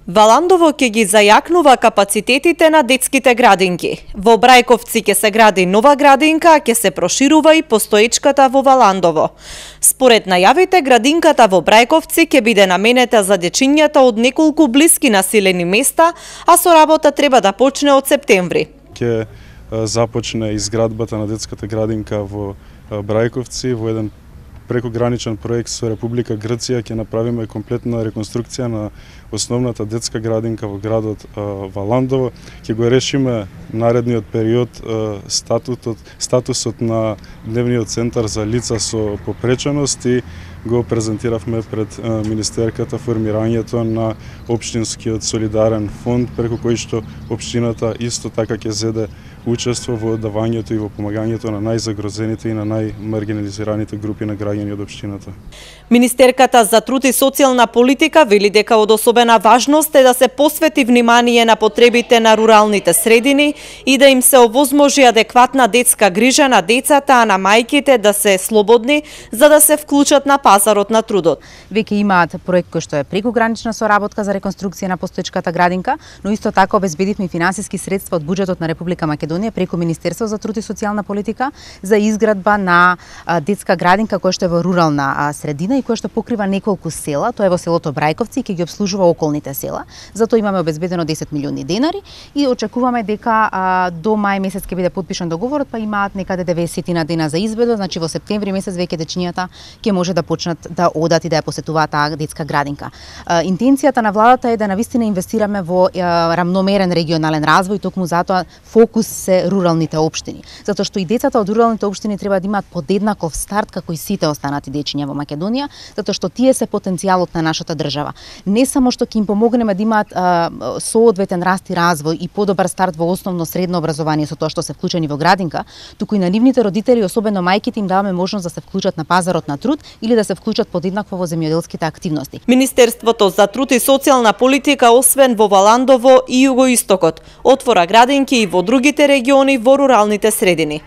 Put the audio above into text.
Валандово ќе ги зајакнува капацитетите на детските градинки. Во Брајковци ќе се гради нова градинка, а ќе се проширува и постоечката во Валандово. Според најавите, градинката во Брајковци ќе биде наменета за дечињата од неколку блиски населени места, а со работа треба да почне од септември. Ќе започне изградбата на детската градинка во Брајковци во еден прекограничен проект со Република Грција. Ќе направиме комплетна реконструкција на основната детска градинка во градот Валандово. Ќе го решиме наредниот период статусот на дневниот центар за лица со попреченост и го презентиравме пред министерката формирањето на општинскиот солидарен фонд, преку кој што општината исто така ќе зеде учество во давањето и во помагањето на најзагрозените и на најмаргинализираните групи на граѓани од општината. Министерката за труд и социјална политика вели дека од особена важност е да се посвети внимание на потребите на руралните средини и да им се овозможи адекватна детска грижа на децата, а на мајките да се слободни за да се вклучат на пазарот на трудот. Веќе имаат проект кој што е прекогранична соработка за реконструкција на постоечката градинка, но исто така обезбедивме финансиски средства од буџетот на Република Македонија преку Министерство за труд и социјална политика за изградба на детска градинка која што е во рурална средина и која што покрива неколку села. Тоа е во селото Брајковци и ќе ги обслужува околните села. Затоа имаме обезбедено 10 милиони денари и очекуваме дека до мај месец ќе биде потпишан договорот, па имаат некаде 90 дена за изvedба, значи во септември месец веќе дечињата ќе може да почнат да одат и да ја посетуваат таа детска градинка. Интенцијата на владата е да навистина инвестираме во рамномерен регионален развој, токму затоа фокус се руралните општини. Затоа што и децата од руралните општини треба да имаат подеднаков старт како и сите останати дечиња во Македонија, затоа што тие се потенцијалот на нашата држава. Не само што ќе им помогнеме да имаат соодветен раст и развој и подобар старт во основно средно образование со тоа што се вклучени во градинка, туку и на нивните родители, особено мајките, им даваме можност да се вклучат на пазарот на труд или да се вклучат подеднакво во земјоделските активности. Министерството за труд и социјална политика, освен во Валандово и југоистокот, отвора градинки и во другите региони во руралните средини.